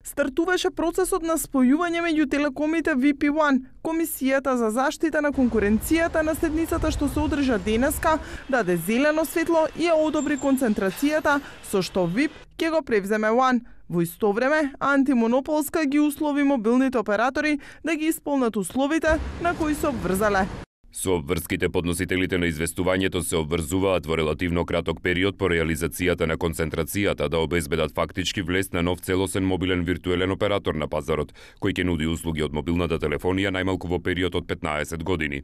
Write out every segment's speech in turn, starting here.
Стартуваше процесот на спојување меѓу телекомите VIP и One. Комисијата за заштита на конкуренцијата на седницата што се одржа денеска даде зелено светло и ја одобри концентрацијата со што VIP ќе го превземе One. Во исто време, Антимонополска ги услови мобилните оператори да ги исполнат условите на кои се обврзале. Со обврските подносителите на известувањето се обврзуваат во релативно краток период по реализацијата на концентрацијата да обезбедат фактички влез на нов целосен мобилен виртуелен оператор на пазарот, кој ќе нуди услуги од мобилната телефонија најмалку во период од 15 години.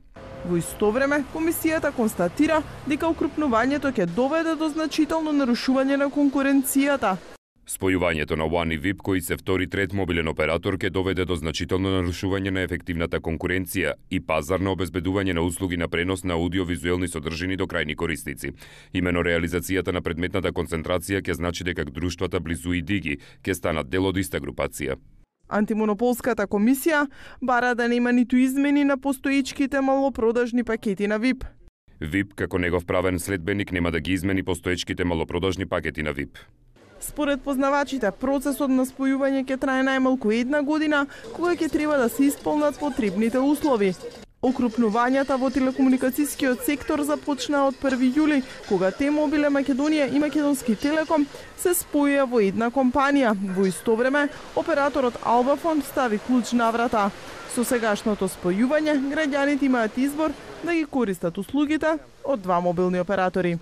Во исто време, комисијата констатира дека укрупнувањето ќе доведе до значително нарушување на конкуренцијата. Спојувањето на One и VIP, кои се втори и трет мобилен оператор, ќе доведе до значително нарушување на ефективната конкуренција и пазарно обезбедување на услуги на пренос на аудиовизуелни содржини до крајни корисници. Имено реализацијата на предметната концентрација ќе значи дека друштвата Близу и Диги ќе станат дел од иста групација. Антимонополската комисија бара да нема ниту измени на постоечките малопродажни пакети на VIP. VIP, како негов правен следбеник, нема да ги измени постоечките малопродажни пакети на VIP. Според познавачите, процесот на спојување ќе трае најмалку 1 година, кога ќе треба да се исполнат потребните услови. Окрупнувањата во телекомуникацијскиот сектор започнаа од 1 јули, кога T-Mobile Македонија и Македонски Телеком се споија во една компанија. Во исто време, операторот Албафон стави клуч на врата. Со сегашното спојување, граѓаните имаат избор да ги користат услугите од два мобилни оператори.